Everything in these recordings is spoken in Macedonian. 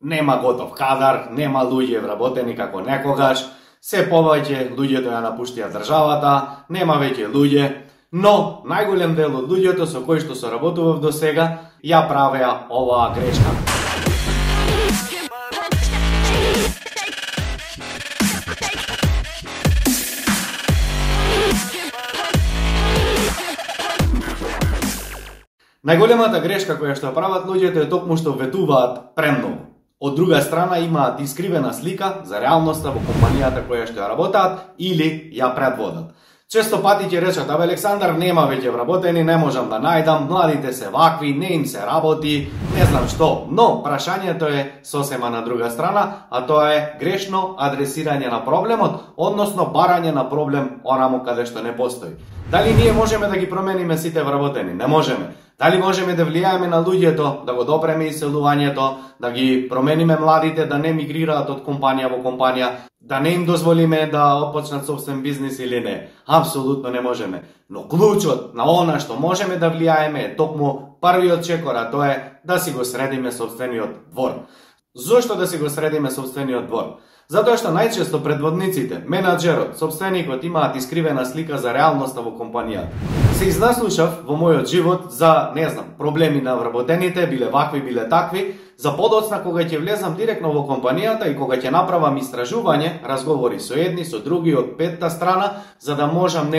Нема готов кадар, нема луѓе вработени како некогаш, се повеќе луѓето ја напуштија државата, нема веќе луѓе, но најголем дел од луѓето со кои што се работував до сега ја правеа оваа грешка. Најголемата грешка која што прават луѓето е токму што ветуваат премногу. Од друга страна имаат искривена слика за реалноста во компанијата која што ја работаат или ја предводат. Често пати ќе речат: "Абе Александар, нема веќе вработени, не можам да најдам, младите се вакви, не им се работи, не знам што." Но прашањето е сосема на друга страна, а тоа е грешно адресирање на проблемот, односно барање на проблем онаму каде што не постои. Дали ние можеме да ги промениме сите вработени? Не можеме. Дали можеме да влијаеме на луѓето, да го допреме иселувањето, да ги промениме младите да не мигрираат од компанија во компанија, да не им дозволиме да отпочнат собствен бизнис или не? Апсолутно не можеме. Но клучот на она што можеме да влијаеме е токму првиот чекор, а тоа е да си го средиме собствениот двор. Зошто да си го средиме собствениот двор? Затоа што најчесто предводниците, менаџерот, собственикот имаат искривена слика за реалноста во компанијата. Се изнаслушав во мојот живот за, не знам, проблеми на вработените, биле вакви, биле такви, за подоцна кога ќе влезам директно во компанијата и кога ќе направам истражување, разговори со едни, со други од петта страна, за да можам,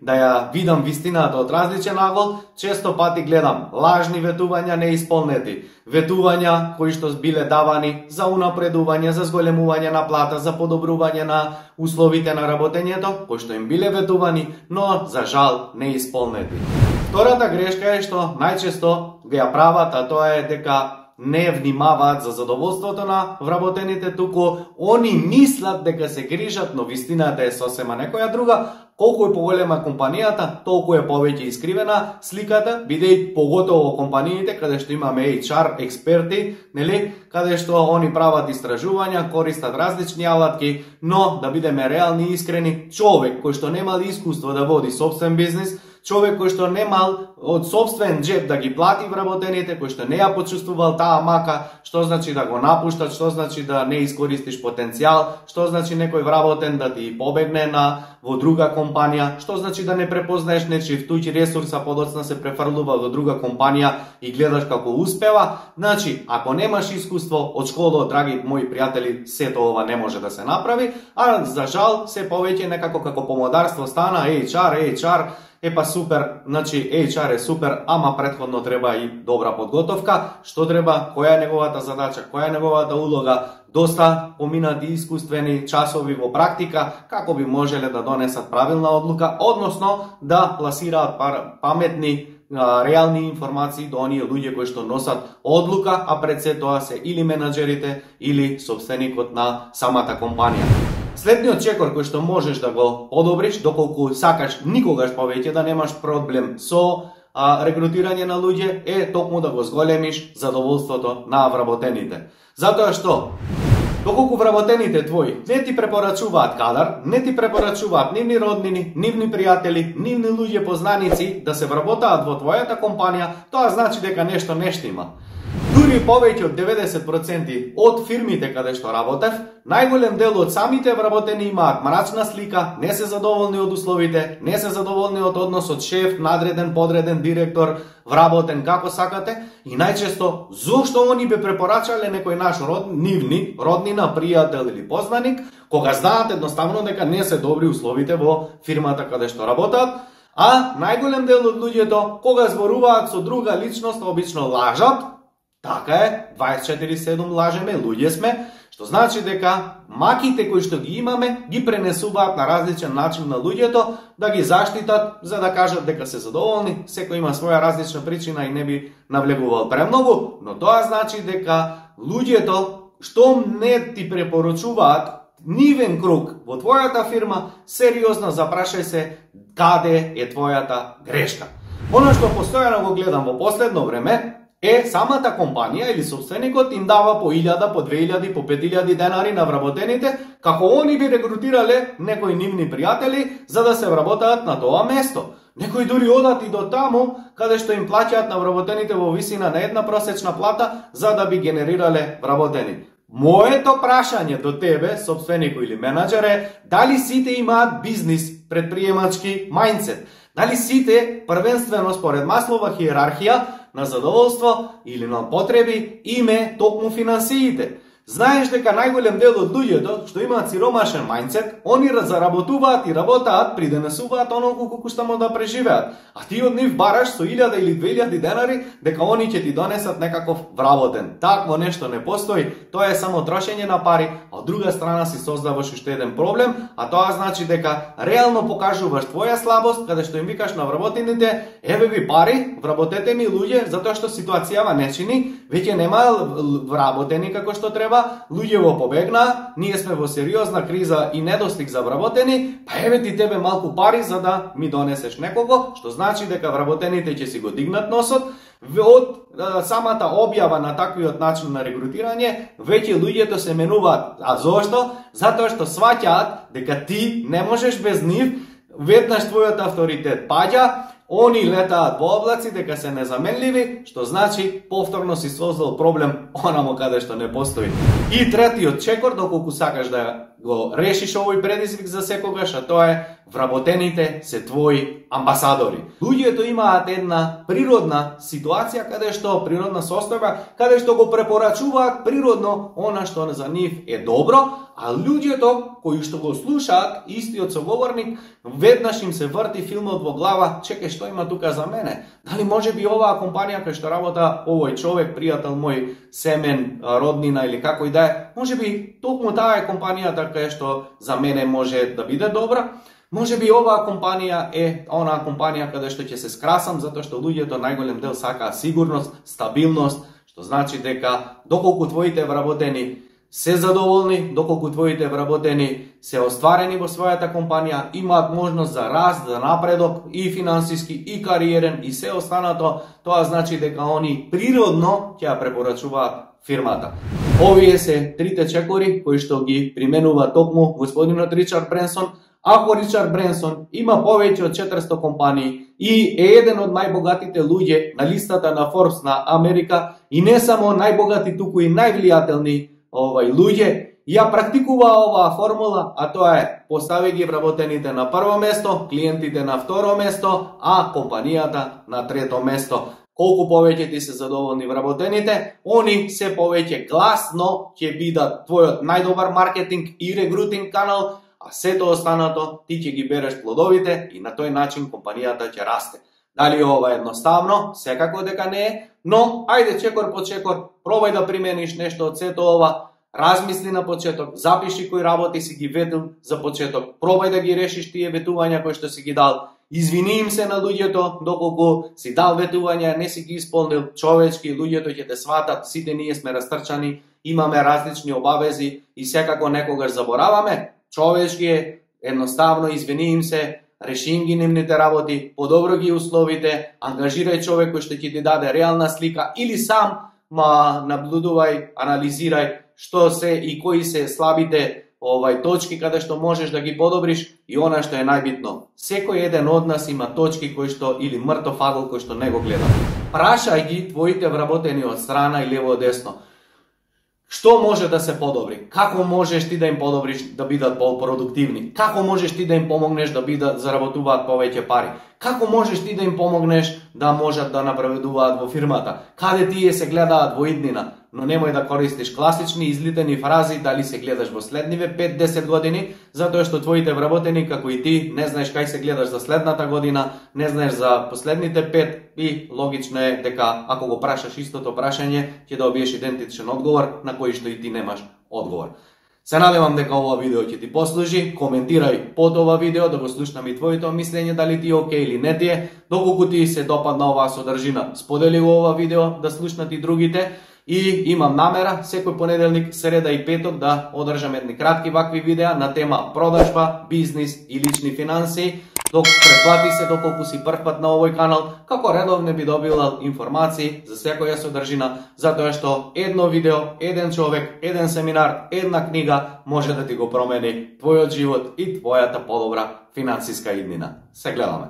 да ја видам вистината од различен агол, често пати гледам лажни ветувања неисполнети, ветувања кои што биле давани за унапредување, за зголемување на плата, за подобрување на условите на работењето, кои што им биле ветувани, но за жал неисполнети. Втората грешка е што најчесто ја прават, а тоа е дека не внимаваат за задоволството на вработените, туку они мислат дека се грижат, но вистината е сосема некоја друга. Колку е поголема компанијата, толку е повеќе искривена сликата, бидејќи поготово во компаниите каде што имаме HR експерти, каде што они прават истражувања, користат различни алатки, но да бидеме реални и искрени, човек кој што немал искуство да води собствен бизнис, човек кој што немал од собствен джеб да ги плати вработените, кој што не ја почувствувал таа мака, што значи да го напуштат, што значи да не искористиш потенцијал, што значи некој вработен да ти побегне во друга компанија, што значи да не препознаеш нечив туѓ ресурс, а подоцна се префрлува во друга компанија и гледаш како успева. Значи, ако немаш искуство од школа, драги мои пријатели, сето ова не може да се направи, а за жал се повеќе некако како помодарство стана HR, епа супер, значи HR е супер, ама претходно треба и добра подготовка. Што треба, која е неговата задача, која е неговата улога, доста поминати искуствени часови во практика, како би можеле да донесат правилна одлука, односно да пласираат паметни, реални информации до оние луѓе кои што носат одлука, а пред се тоа се или менаџерите, или собственикот на самата компанија. Следниот чекор кој што можеш да го одобриш, доколку сакаш никогаш повеќе да немаш проблем со рекрутирање на луѓе, е токму да го зголемиш задоволството на вработените. Затоа што, доколку вработените твои не ти препорачуваат кадар, не ти препорачуваат нивни роднини, нивни пријатели, нивни луѓе познаници да се вработаат во твојата компанија, тоа значи дека нешто не штима. Дури повеќе од 90% од фирмите каде што работев, најголем дел од самите вработени имаат мрачна слика, не се задоволни од условите, не се задоволни од односот шеф, надреден, подреден, директор, вработен, како сакате, и најчесто зошто они бе препорачале некој наш нивни, роднина, пријател или познаник, кога знаат едноставно дека не се добри условите во фирмата каде што работат, а најголем дел од луѓето кога зборуваат со друга личност обично лажат. Така е, 24/7 лажеме, луѓе сме, што значи дека маките кои што ги имаме ги пренесуваат на различен начин на луѓето да ги заштитат, за да кажат дека се задоволни. Секој има своја различна причина и не би навлегувал премногу, но тоа значи дека луѓето што не ти препорачуваат нивен круг во твојата фирма, сериозно запрашај се каде е твојата грешка. Оно што постојано го гледам во последно време е самата компанија или собственикот им дава по 1000, по 2000, по 5000 денари на вработените, како они би рекрутирале некои нивни пријатели за да се вработаат на тоа место. Некои дури одат и до таму каде што им плаќаат на вработените во висина на една просечна плата за да би генерирале вработени. Моето прашање до тебе, сопственик или менаџер е, дали сите имаат бизнис, предприемачки мајндсет? Дали сите првенствено според Маслова хиерархија на задоволство или на потреби име токму финансиите? Знаеш дека најголем дел од луѓето што имаат сиромашен мајндсет, они заработуваат и работаат, придонесуваат онолку колку што може да преживеат. А ти од нив бараш со 1000 или 2000 денари дека они ќе ти донесат некаков вработен. Такво нешто не постои, тоа е само трошење на пари, а од друга страна си создаваш уште еден проблем, а тоа значи дека реално покажуваш твоја слабост каде што им викаш на вработените, еве ви пари, вработете ми луѓе, затоа што ситуацијава не чини, веќе нема вработени како што треба. Луѓе во побегна, ние сме во сериозна криза и недостиг за вработени, па еве ти тебе малку пари за да ми донесеш некого, што значи дека вработените ќе си го дигнат носот. Од самата објава на таквиот начин на регрутирање, веќе луѓето се менуваат. А зошто? Затоа што сваќаат дека ти не можеш без нив, веднаш твојот авторитет паѓа, они летаат во облаци дека се незаменливи, што значи повторно си создал проблем онамо каде што не постои. И третиот чекор, доколку сакаш да го решиш овој предизвик за секогаш, а тоа е вработените се твои амбасадори. Луѓето имаат една природна ситуација каде што природна состојба, каде што го препорачуваат природно она што за нив е добро, а луѓето кои што го слушаат истиот соговорник, веднаш им се врти филмот во глава, чекај што има тука за мене? Дали може би оваа компанија кај што работа овој човек, пријател мој, семен, роднина или како и да е, може би токму таа е компанијата кај што за мене може да биде добра? Може би оваа компанија е онаа компанија каде што ќе се скрасам, затоа што луѓето најголем дел сакаат сигурност, стабилност, што значи дека доколку твоите вработени се задоволни, доколку твоите вработени се остварени во својата компанија, имаат можност за раст, за напредок и финансиски, и кариерен, и се останато, тоа значи дека они природно ќе ја препорачуваат фирмата. Овие се трите чекори кои што ги применува токму господинот Ричард Бренсон. Ако Ричард Бренсон има повеќе од 400 компании и е еден од најбогатите луѓе на листата на Forbes на Америка и не само најбогати, туку и највлијателни луѓе, ја практикува оваа формула, а тоа е постави ги вработените на прво место, клиентите на второ место, а компанијата на трето место. Колку повеќе ти се задоволни вработените, они се повеќе гласно ќе бидат твојот најдобар маркетинг и регрутинг канал, а сето останато ти ќе ги береш плодовите и на тој начин компанијата ќе расте. Дали ова е едноставно? Секако дека не е, но ајде чекор по чекор, пробај да примениш нешто од сето ова, размисли на почеток, запиши кои работи си ги ветил за почеток, пробај да ги решиш тие ветувања кои што си ги дал, извини им се на луѓето доколку си дал ветувања, не си ги исполнил, човечки, луѓето ќе те сватат, сите ние сме растрчани, имаме различни обавези и секако некогаш забораваме, човечки е, едноставно извини им се, реши им ги нивните работи, подобро ги условите, ангажирај човек кој што ќе ти даде реална слика или сам наблюдувај, анализирај што се и кои се слабите точки каде што можеш да ги подобриш и она што е најбитно. Секој еден од нас има точки кои што или мртов агол кој што не го гледа. Прашај ги твоите вработени од страна и лево десно. Што може да се подобри? Како можеш ти да им подобриш да бидат по-продуктивни? Како можеш ти да им помогнеш да заработуваат повеќе пари? Како можеш ти да им помогнеш да можат да напредуваат во фирмата? Каде тие се гледаат во иднина? Но немој да користиш класични излитени фрази дали се гледаш во следниве 5-10 години, затоа што твоите вработени, како и ти, не знаеш кај се гледаш за следната година, не знаеш за последните 5 и логично е дека ако го прашаш истото прашање, ќе добиеш идентичен одговор на кој што и ти немаш одговор. Се надевам дека ова видео ќе ти послужи, коментирај под ова видео да го слушнам и твоето мислење дали ти е окей или не ти е, доколку ти се допадна оваа содржина, сподели ова видео да слушнат и другите. И имам намера секој понеделник, среда и петок да одржам едни кратки вакви видеа на тема продажба, бизнис и лични финанси. Претплати се доколку си прв пат на овој канал, како редовно би добила информации за секоја содржина, затоа што едно видео, еден човек, еден семинар, една книга може да ти го промени твојот живот и твојата подобра финансиска иднина. Се гледаме.